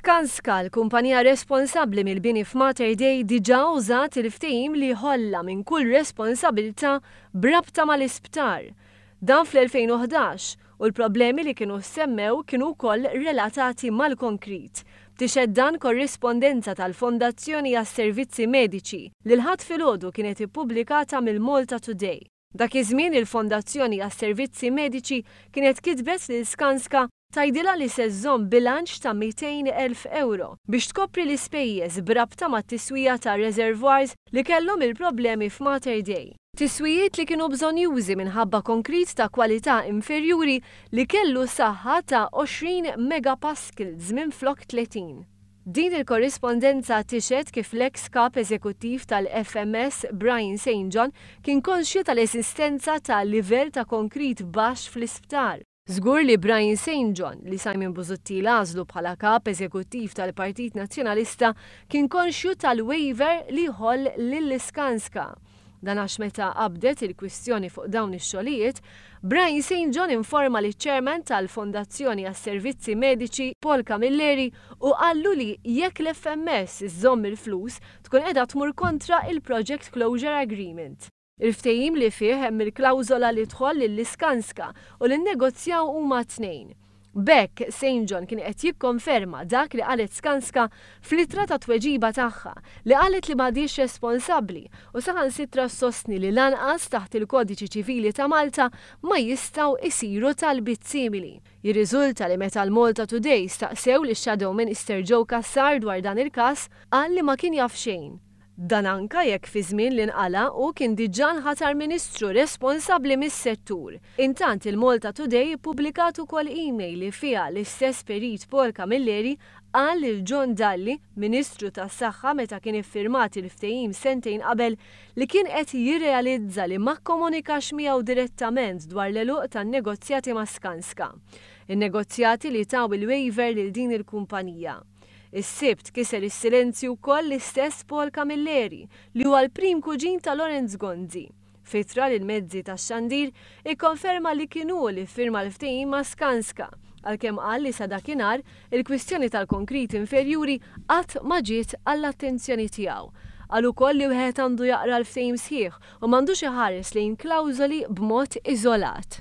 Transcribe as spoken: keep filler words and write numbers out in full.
Skanska, l-kumpanija responsabbli mill-bini f'Mater Dei, diġà użat il-ftehim li ħollha minn kull responsabilità b'rabta mal-isptar. Dan fl-elfejn u ħdax, u l-problemi li kienu semmew kienu wkoll relatati mal-konkrit. Tixhed dan korrispondenza tal-Fondazzjoni għas-Servizzi Mediċi li l-Ħadd filgħodu kienet ippubblikata mill-Malta Today. Dak iż-żmien, il-Fondazzjoni għas-Servizzi Mediċi kienet kitbet lil Skanska tgħidilha li se żżomm bilanċ ta' mitejn elf euro biex tkopri l-ispejjeż b'rabta mat-tiswija ta' reservoirs li kellhom il-problemi f'Mater Dei. Tiswijiet li kienu bżonjużi minħabba konkrit ta' kwalità inferjuri li kellu saħħa ta' għoxrin megapascals minn flok tletin. Din il-korrispondenza tixhed kif l-ex kap eżekuttiv tal-F M S Brian Saint John kien konxju tal-esistenza ta' livell ta' konkrit baxx fl-isptar. Żgur li Brian Saint John, li Simon Busuttil għażlu bħala kap eżekuttiv tal-Partit Nazzjonalista, kien konxju tal-waiver li ħoll lil Skanska. Dan għax meta qabdet il-kwistjoni fuq dawn ix-xogħlijiet, Brian Saint John informa liċ-chairman tal-Fondazzjoni għas-Servizzi Mediċi Paul Camilleri u qallu li jekk l-F M S iżżomm il-flus tkun qiegħda tmur kontra il-Project Closure Agreement. Il-ftehim li fih hemm il-klawżola li tħoll lil Skanska u li nnegozjaw huma tnejn. B'hekk, Saint John kien qed jikkonferma dak li qalet Skanska fl-ittra ta' tweġiba tagħha, li qalet li m'għadhiex responsabbli u saħansitra sostni li lanqas taħt il-Kodiċi Ċivili ta' Malta ma jistgħu isiru talbiet simili. Jirriżulta li meta l-Malta Today staqsew lix-Shadow Minister Joe Cassar dwar dan il-każ, qal li ma kien jaf xejn. Dan anka jekk fi żmien li nqala u kien diġà nħatar ministru responsabbli mis-settur. Intant, il-Malta Today ippubblikat ukoll email li fiha l-istess perit Paul Camilleri qal lil John Dalli, Ministru tas-Saħħa meta kien iffirmat il-ftehim sentejn qabel, li kien qed jirrealizza li ma kkomunikax miegħu direttament dwar l-għeluq tan-negozjati ma' Skanska. In-negozjati li taw il-waiver lil din il-kumpanija. Is-Sibt kiser is-silenzju wkoll l-istess Paul Camilleri, li huwa l-prim kuġin ta' Lawrence Gonzi. F'ittra lill-mezzi tax-xandir ikkonferma li kien hu li firma l-ftehim ma' Skanska, għalkemm qal li sa dakinhar il-kwistjoni tal-konkrit inferjuri qatt ma ġiet għall-attenzjoni tiegħu. Qal ukoll li wieħed għandu jaqra l-ftehim sħiħ u m'għandux iħares lejn klawżoli b'mod iżolat.